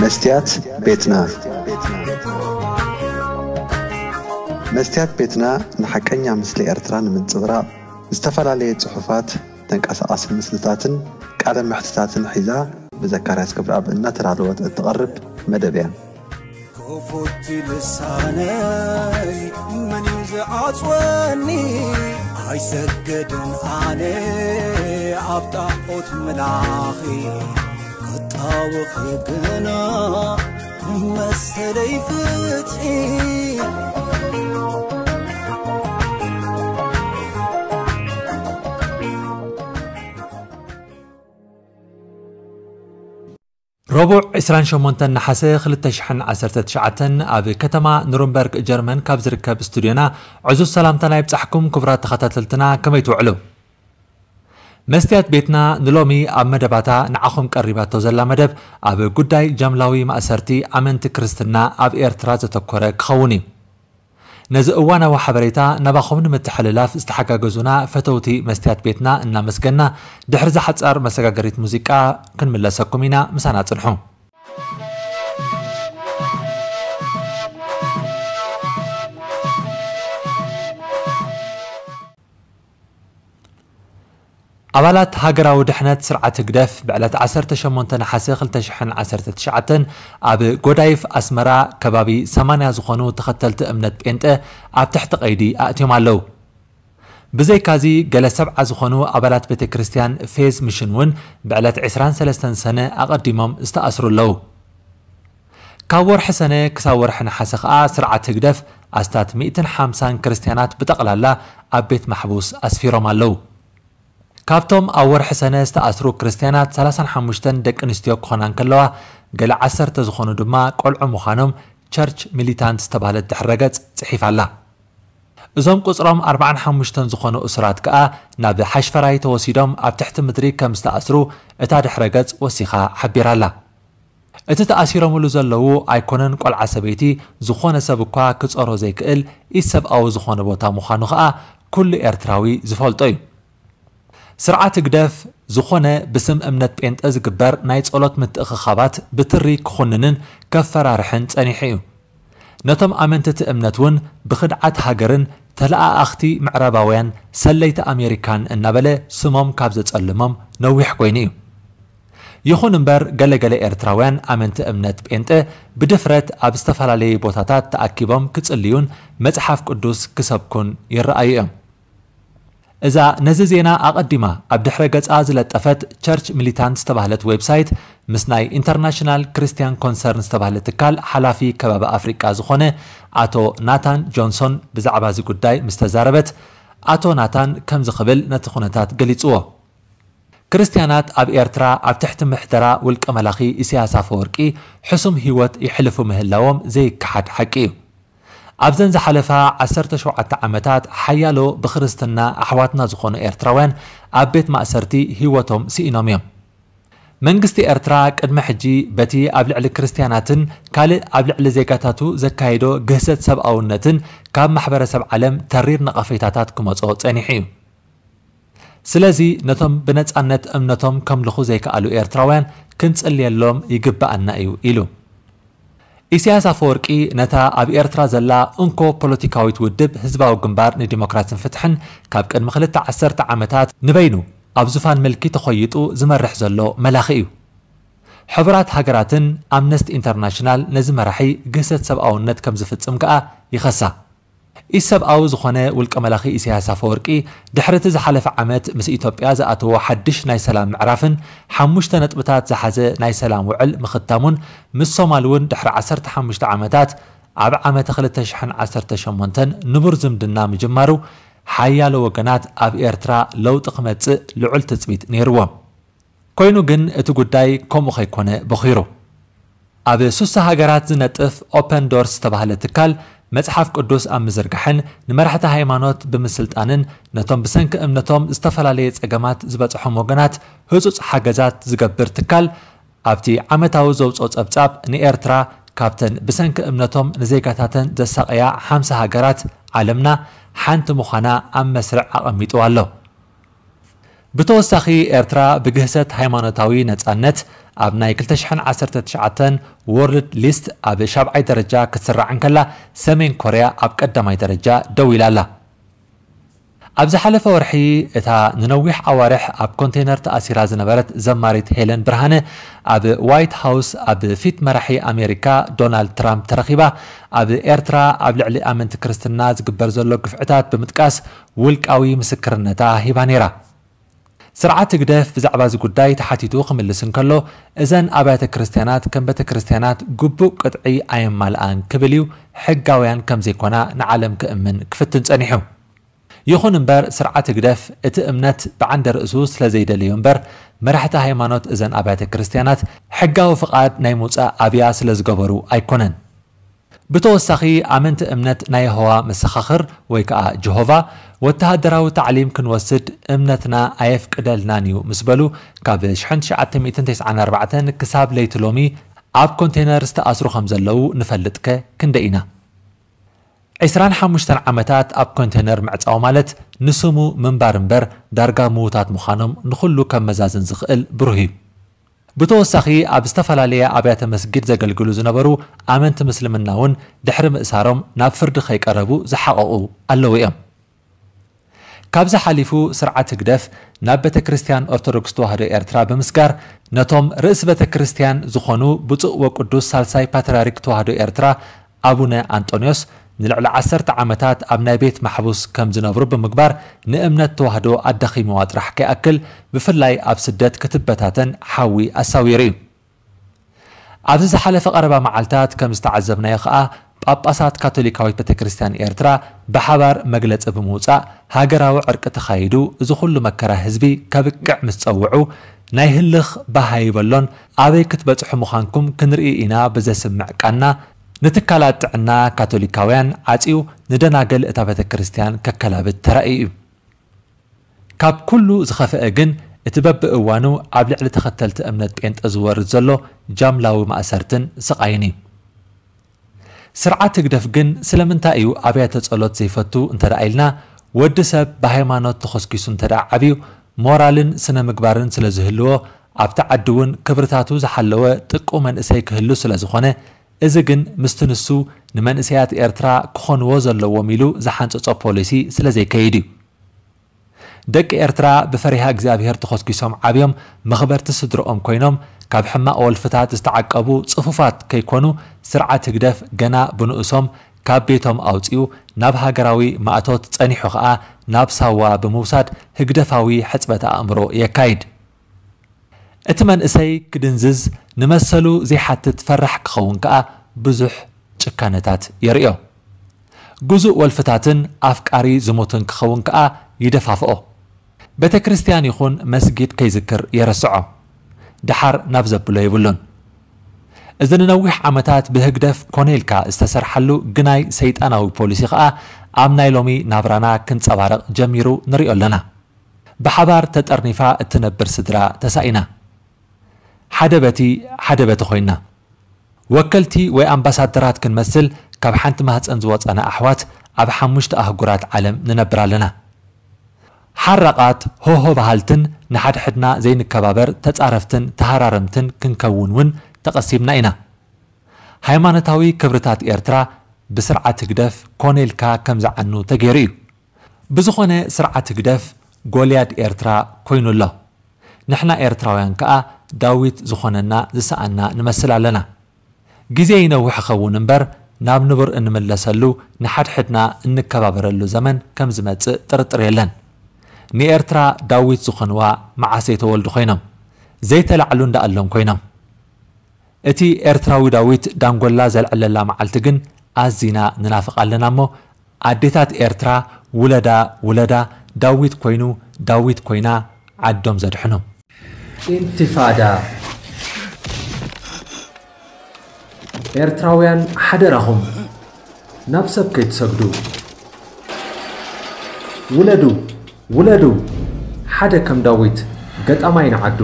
መስትያት ቤትና። መስትያት ቤትና ንሓቀኛ ምስሊ ኤርትራ ንምንጽብራቕ ዝተፈላለየ ጽሑፋት፣ ተንቀሳቓሲ ምስልታትን ቃለ መሕትታትን ሒዛ ብዘካርያስ ክብረኣብ እናተዳለወት እትቐርብ መደብ እያ። ክፉት ልሳነይ መን እዩ ዝዓጽወኒ? ኣይሰግድን ኣነ ኣብ ጣዖት ምላኺ፣ ክጣወኺ ግና መሰለይ ፍትሒ። ረቡዕ ዕስራን ሸሞንተን ነሓሰ ክልተ ሽሕን ዓሰርተ ትሽዓተን ኣብ ከተማ ኑርንበርግ ጀርመን ካብ ዝርከብ ስቱድዮና ዕዙዝ ሰላምታና ይብጻሕኩም። ክቡራት ተኸታተልትና፣ ከመይ ትውዕሉ? መስትያት ቤትና ንሎሚ ኣብ መደባታ ንዓኹም ቀሪባቶ ዘላ መደብ ኣብ ጉዳይ ጃምላዊ ማእሰርቲ ኣመንቲ ክርስትና ኣብ ኤርትራ ዘተኮረ ክኸውን እዩ። ነዚ እዋናዊ ሓበሬታ ናባኹም ንምትሕልላፍ ዝተሓጋገዙና ፈተውቲ መስትያት ቤትና እናመስገና፣ ድሕሪ እዛ ሓጻር መሰጋገሪት ሙዚቃ ክንምለሰኩም ኢና። ምሳና ጽንሑ። ኣባላት ሃገራዊ ድሕነት ስርዓት ህግደፍ ብዕለት ዓሰርተ ሸሞንተ ነሓሰ ክልተ ሽሕን ዓሰርተ ትሽዓተን ኣብ ጎዳይፍ ኣስመራ ከባቢ ሰማንያ ዝኾኑ ተኸተልቲ እምነት ጴንጠ ኣብ ትሕቲ ቀይዲ ኣእትዮም ኣለዉ። ብዘይካዚ፣ ገለ ሰብዓ ዝኾኑ ኣባላት ቤተ ክርስቲያን ፌዝ ሚሽን እውን ብዕለት ዕስራን ሰለስተን ሰነ ኣቐዲሞም ዝተኣስሩ ኣለዉ። ካብ ወርሒ ሰነ ክሳብ ወርሒ ነሓሰ ከኣ ስርዓት ህግደፍ ኣስታት ሚእትን ሓምሳን ክርስትያናት ብጠቕላላ ኣብ ቤት ማሕቡስ ኣስፊሮም ኣለዉ። ካብቶም ኣብ ወርሒ ሰነ ዝተኣስሩ ክርስትያናት፣ ሰላሳን ሓሙሽተን ደቂ ኣንስትዮ ክኾና እንከለዋ፣ ገለ ዓሰርተ ዝኾኑ ድማ ቆልዑ ምዃኖም ቸርች ሚሊታንት ዝተባህለት ድሕረ ገጽ ጽሒፋ ኣላ። እዞም ቁጽሮም ኣርባዓን ሓሙሽተን ዝኾኑ እሱራት ከኣ ናብ ሓሽፈራይ ተወሲዶም ኣብ ትሕቲ ምድሪ ከም ዝተኣስሩ እታ ድሕረ ገጽ ወሲኻ ሓቢራ ኣላ። እቲ ተኣሲሮምሉ ዘለዉ ኣይኮነን ቆልዓ ሰበይቲ፣ ዝኾነ ሰብ እኳ ክጾሮ ዘይክእል ኢሰብኣዊ ዝኾነ ቦታ ምዃኑ ከኣ ኩሉ ኤርትራዊ ዝፈልጦ እዩ። ስርዓት ህግደፍ ዝኾነ ብስም እምነት ጴንጠ ዝግበር ናይ ጸሎት ምትእኽኻባት ብትሪ ክኹንንን ከፈራርሕን ጸኒሑ እዩ። ነቶም ኣመንትቲ እምነት እውን ብኽድዓት ሃገርን ተለኣኣኽቲ ምዕራባውያን ሰለይቲ ኣሜሪካን እናበለ ስሞም ካብ ዘጸልሞም ነዊሕ ኮይኑ እዩ። ይኹን እምበር፣ ገለገለ ኤርትራውያን ኣመንቲ እምነት ጴንጠ ብድፍረት ኣብ ዝተፈላለየ ቦታታት ተኣኪቦም ክጽልዩን መጽሓፍ ቅዱስ ክሰብኩን ይረኣዩ እዮም። እዛ ነዚ ዜና ኣቐዲማ ኣብ ድሕረ ገጻ ዝለጠፈት ቸርች ሚሊታንት ዝተባህለት ዌብሳይት፣ ምስ ናይ ኢንተርናሽናል ክርስትያን ኮንሰርን ዝተባህለ ትካል ሓላፊ ከባቢ ኣፍሪቃ ዝኾነ ኣቶ ናታን ጆንሶን ብዛዕባ እዚ ጉዳይ ምስ ተዛረበት፣ ኣቶ ናታን ከምዚ ክብል ነቲ ኩነታት ገሊጽዎ። ክርስትያናት ኣብ ኤርትራ ኣብ ትሕቲ ምሕደራ ውልቀ መላኺ ኢሳያስ ኣፈወርቂ ሕሱም ህይወት የሕልፉ ምህላዎም ዘይከሓድ ሓቂ እዩ። ኣብዘን ዝሓለፋ ዓሰርተ ሸውዓተ ዓመታት ሓያሎ ብክርስትና ኣሕዋትና ዝኾኑ ኤርትራውያን ኣብ ቤት ማእሰርቲ ህይወቶም ስኢኖም እዮም። መንግስቲ ኤርትራ ቅድሚ ሕጂ በቲ ኣብ ልዕሊ ክርስትያናትን ካልእ ኣብ ልዕሊ ዜጋታቱ ዘካየዶ ግህሰት ሰብኣውነትን ካብ ማሕበረሰብ ዓለም ተሪር ነቐፌታታት ክመጾ ጸኒሑ እዩ። ስለዚ ነቶም ብነጻነት እምነቶም ከምልኹ ዘይከኣሉ ኤርትራውያን ክንጽልየሎም ይግብኣና እዩ ኢሉ። ኢሳያስ ኣፈወርቂ ነታ ኣብ ኤርትራ ዘላ እንኮ ፖለቲካዊት ውድብ ህዝባዊ ግንባር ንዲሞክራስን ፍትሕን ካብ ቅድሚ ክልተ ዓሰርተ ዓመታት ንበይኑ ኣብ ዙፋን ምልኪ ተኾይጡ ዝመርሕ ዘሎ መላኺ እዩ። ሕቡራት ሃገራትን ኣምነስቲ ኢንተርናሽናል ነዚ መራሒ ግህሰት ሰብኣውነት ከም ዝፍጽም ከኣ ይኸሳ። ኢሰብኣዊ ዝኾነ ውልቀ መላኺ ኢሳያስ ኣፈወርቂ ድሕሪ እቲ ዝሓለፈ ዓመት ምስ ኢትዮጵያ ዝኣተዎ ሓድሽ ናይ ሰላም ምዕራፍን ሓሙሽተ ነጥብታት ዝሓዘ ናይ ሰላም ውዕል ምኽታሙን ምስ ሶማል እውን ድሕሪ ዓሰርተ ሓሙሽተ ዓመታት ኣብ ዓመተ ክልተ ሽሕን ዓሰርተ ሸሞንተን ንቡር ዝምድና ምጅማሩ ሓያሎ ወገናት ኣብ ኤርትራ ለውጢ ክመጽእ ልዑል ትጽቢት ነይርዎም። ኮይኑ ግን እቲ ጉዳይ ከምኡ ከይኮነ በኺሩ። ኣብ ሱሳ ሃገራት ዝነጥፍ ኦፐን ዶርስ ዝተባህለ ትካል መጽሓፍ ቅዱስ ኣብ ምዝርጋሕን ንመራሕቲ ሃይማኖት ብምስልጣንን ነቶም ብሰንኪ እምነቶም ዝተፈላለየ ጸገማት ዝበጽሖም ወገናት ህጹጽ ሓገዛት ዝገብር ትካል ኣብቲ ዓመታዊ ዘውጽኦ ጸብጻብ ንኤርትራ ካብተን ብሰንኪ እምነቶም ንዜጋታተን ዘሳቐያ ሓምሳ ሃገራት ዓለምና ሓንቲ ምዃና ኣብ መስርዕ ኣቐሚጡ ኣሎ። ብተወሳኺ ኤርትራ ብግህሰት ሃይማኖታዊ ነጻነት ኣብ ናይ ክልተ ሽሕን ዓሰርተ ትሽዓተን ወርልድ ሊስት ኣብ ሻብዓይ ደረጃ ክትስራዕ እንከላ፣ ሰሜን ኮርያ ኣብ ቀዳማይ ደረጃ ደው ኢላ ኣላ። ኣብ ዝሓለፈ ወርሒ፣ እታ ንነዊሕ ኣዋርሕ ኣብ ኮንቴነር ተኣሲራ ዝነበረት ዘማሪት ሄለን ብርሃነ፣ ኣብ ዋይት ሃውስ ኣብ ፊት መራሒ ኣሜሪካ ዶናልድ ትራምፕ ተረኺባ፣ ኣብ ኤርትራ ኣብ ልዕሊ ኣመንቲ ክርስትና ዝግበር ዘሎ ግፍዕታት ብምጥቃስ ውልቃዊ ምስክርነታ ሂባ ነይራ። ስርዓት ህግደፍ ብዛዕባ እዚ ጉዳይ ተሓቲቱ ክምልስ እንከሎ፣ እዘን ኣብያተ ክርስትያናት ከም ቤተ ክርስትያናት ግቡእ ቅጥዒ ኣየማልኣን ክብል እዩ፣ ሕጋውያን ከም ዘይኮና ንዓለም ክእምን ክፍትን ጸኒሑ። ይኹን እምበር፣ ስርዓት ህግደፍ እቲ እምነት ብዓንደ ርእሱ ስለ ዘይደለዮ እምበር፣ መራሕቲ ሃይማኖት እዘን ኣብያተ ክርስትያናት ሕጋዊ ፍቓድ ናይ ምውጻእ ኣብያ ስለ ዝገበሩ ኣይኮነን። ብተወሳኺ፣ ኣመንቲ እምነት ናይ የሆዋ መሰኻኽር ወይ ከኣ ጀሆቫ፣ ወተሃደራዊ ታዕሊም ክንወስድ እምነትና ኣየፍቅደልናን እዩ ምስ በሉ፣ ካብ ሽሕን ትሽዓተ ሚእትን ተስዓን ኣርባዕተን ክሳብ ለይቲ ሎሚ ኣብ ኮንቴነር ዝተኣስሩ ከም ዘለዉ ንፈልጥከ ክንደይ ኢና? ዕስራን ሓሙሽተን ዓመታት ኣብ ኮንቴነር ምዕጻው ማለት ንስሙ ምንባር እምበር ዳርጋ ምዉታት ምዃኖም ንኹሉ ከመዛዝን ዝኽእል ብሩህ እዩ። ብተወሳኺ ኣብ ዝተፈላለየ ኣብያተ መስጊድ ዘገልግሉ ዝነበሩ ኣመንቲ ምስልምና እውን ድሕሪ ምእሳሮም ናብ ፍርዲ ከይቀረቡ ዝሓቐቑ ኣለዉ እዮም። ካብዚ ሓሊፉ ስርዓት ህግደፍ ናብ ቤተ ክርስቲያን ኦርቶዶክስ ተዋህዶ ኤርትራ ብምስጋር ነቶም ርእሲ ቤተ ክርስቲያን ዝኾኑ ብፁዕ ወቅዱስ ሳልሳይ ፓትርያርክ ተዋህዶ ኤርትራ ኣቡነ ኣንጦንዮስ ንልዕሊ ዓሰርተ ዓመታት ኣብ ናይ ቤት ማሕቡስ ከም ዝነብሩ ብምግባር ንእምነት ተዋህዶ ኣዳኺምዋ ጥራሕ ከይኣክል ብፍላይ ኣብ ስደት ክትበታተን ሓዊ ኣሳዊሩ እዩ። ኣብዚ ዝሓለፈ ቀረባ መዓልታት ከም ዝተዓዘብናዮ ከኣ ጳጳሳት ካቶሊካዊት ቤተ ክርስቲያን ኤርትራ ብሓባር መግለጺ ብምውጻእ ሃገራዊ ዕርቂ ተኻይዱ እዚ ኩሉ መከራ ህዝቢ ከብቅዕ ምስ ጸውዑ ናይ ህልኽ ባህ ኣይበሎን ኣበይ ክትበጽሑ ምዃንኩም ክንርኢ ኢና ብዘስምዕ ቃና ንትካላት ጥዕና ካቶሊካውያን ዓጽዩ ንደናግል እታ ቤተ ክርስቲያን ከከላብት ተራእዩ እዩ። ካብ ኩሉ ዝኸፍአ ግን እቲ በብእዋኑ ኣብ ልዕሊ ተኸተልቲ እምነት ጴንጠ ዝወርድ ዘሎ ጃምላዊ ማእሰርትን ስቓይን እዩ። ስርዓት ህግደፍ ግን ስለምንታይ እዩ ኣብያተ ጸሎት ዘይፈቱ እንተ ደኣ ኢልና፣ ወዲ ሰብ ብሃይማኖት ተኾስኪሱ እንተ ደኣ ዓብዩ፣ ሞራልን ስነ ምግባርን ስለ ዝህልዎ፣ ኣብቲ ዓዲ እውን ክብርታቱ ዝሓለወ ጥቁ መንእሰይ ክህሉ ስለ ዝኾነ፣ እዚ ግን ምስቲ ንሱ ንመንእሰያት ኤርትራ ክኾንዎ ዘለዎም ኢሉ ዝሓንጸጾ ፖሊሲ ስለ ዘይከይድ እዩ። ደቂ ኤርትራ ብፈሪሃ እግዚኣብሔር ተኾስኪሶም ዓብዮም መኽበርቲ ስድርኦም ኮይኖም ካብ ሕማቕ ወልፍታት ዝተዓቀቡ ጽፉፋት ከይኮኑ ስርዓት ህግደፍ ገና ብንኡሶም ካብ ቤቶም ኣውጺኡ ናብ ሃገራዊ ማእቶት ጸኒሑ ኸኣ ናብ ሳዋ ብምውሳድ ህግደፋዊ ሕጽበት ኣእምሮ የካይድ። እቲ መንእሰይ ክድንዝዝ ንመሰሉ ዘይሓትት ፈራሕ ክኸውን ከኣ ብዙሕ ጭካነታት የርእዮ። ግዙእ ወልፍታትን ኣፍቃሪ ዝሙትን ክኸውን ከኣ ይደፋፍኦ። ቤተ ክርስቲያን ይኹን መስጊድ ከይዝክር የረስዖ። ደሓር ናብ ዘብሎ የብሉን። እዚ ንነዊሕ ዓመታት ብህግደፍ ኮነ ኢልካ ዝተሰርሓሉ ግናይ ሰይጣናዊ ፖሊሲ ከኣ ኣብ ናይ ሎሚ ናብራና ክንጸባረቕ ጀሚሩ ንሪኦ ኣለና። ብሓባር ተጠርኒፋ እትነብር ስድራ ተሳኢና። ሓደ በቲ ሓደ በቲ ኮይና። ወከልቲ ወይ ኣምባሳደራት ክንመስል ካብ ሓንቲ ማህጸን ዝወጻና ኣሕዋት ኣብ ሓሙሽተ ኣህጉራት ዓለም ንነብር ኣለና። ሓራቓት፣ ሆሆ በሃልትን ንሓድሕድና ዘይንከባበር ተጻረፍትን ተሃራረምትን ክንከውን እውን ተቐሲብና ኢና። ሃይማኖታዊ ክብርታት ኤርትራ ብስርዓት ህግደፍ ኮነ ኢልካ ከም ዝዓኑ ተገይሩ እዩ። ብዝኾነ ስርዓት ህግደፍ ጎልያድ ኤርትራ ኮይኑ ኣሎ። ንሕና ኤርትራውያን ከኣ ዳዊት ዝኾነና ዝሰኣና ንመስል ኣለና። ግዜ ይነውሕ ይኸውን እምበር ናብ ንቡር እንምለሰሉ ንሓድሕድና እንከባበረሉ ዘመን ከም ዝመጽእ ጥርጥር የለን። ንኤርትራ ዳዊት ዝኾንዋ መዓስ ዘይተወልዱ ኮይኖም ዘይተላዕሉ እንዳኣሎም ኮይኖም። እቲ ኤርትራዊ ዳዊት ዳንጎላ ዘልዕለላ መዓልቲ ግን ኣዚና ንናፍቕ ኣለና እሞ፣ ኣዴታት ኤርትራ ውለዳ ውለዳ ዳዊት ኮይኑ ዳዊት ኮይና ዓዶም ዘድሕኑ። ኢንቲፋዳ። ኤርትራውያን ሓደራኹም ናብ ሰብ ከይትሰግዱ። ውለዱ፣ ውለዱ፣ ሓደ ከም ዳዊት ገጣማይ ንዓዱ።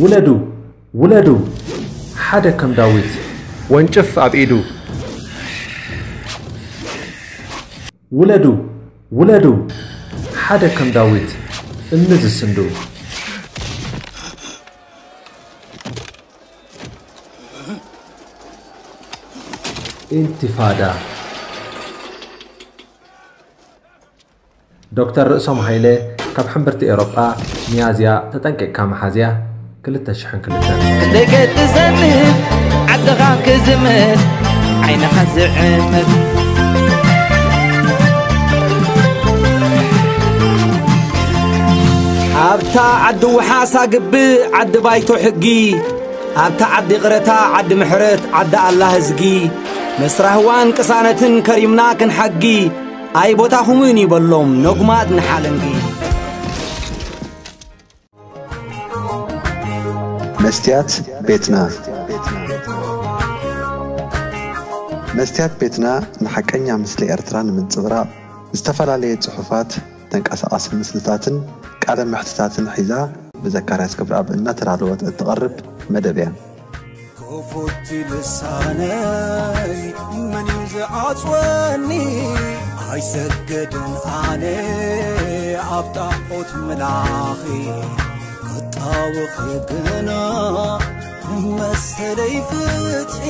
ውለዱ፣ ውለዱ፣ ሓደ ከም ዳዊት ወንጭፍ ኣብ ኢዱ። ውለዱ፣ ውለዱ፣ ሓደ ከም ዳዊት እምኒ ዝስንዱ። ኢንቲፋዳ። ዶክተር ርእሶም ሃይለ ካብ ሕምብርቲ ኤሮጳ። ሚያዝያ ተጠንቂቕካ መሓዝያ ክልተ ሽሕን ክልተን። ደገ ትዘንብ ዓድኻ ክዝምት ዓይንኻ ዝዕምት። ኣብታ ዓዲ ውሓሳ ግብእ ዓዲ ባይቶ ሕጊ፣ ኣብታ ዓዲ ቕረታ ዓዲ ምሕረት ዓዲ ኣላ ህዝጊ፣ ምስ ራህዋን ቅሳነትን ከሪምና ክንሓጊ፣ ኣይ ቦታኹምን ይበሎም ነጉማት ንሓለንጊ። መስትያት ቤትና። መስትያት ቤትና ንሓቀኛ ምስሊ ኤርትራ ንምንጽብራቕ ዝተፈላለየ ጽሑፋት፣ ተንቀሳቓሲ ምስልታትን ቃለ መሕትታትን ሒዛ ብዘካርያስ ገብረኣብ እናተዳለወት እትቐርብ መደብ እያ። ክፉት ልሳነይ መን እዩ ዝዓጽወኒ? ኣይሰግድን ኣነ ኣብ ጣዖት ምላኺ ክጣወኺ ግና መሰለይ ፍትሒ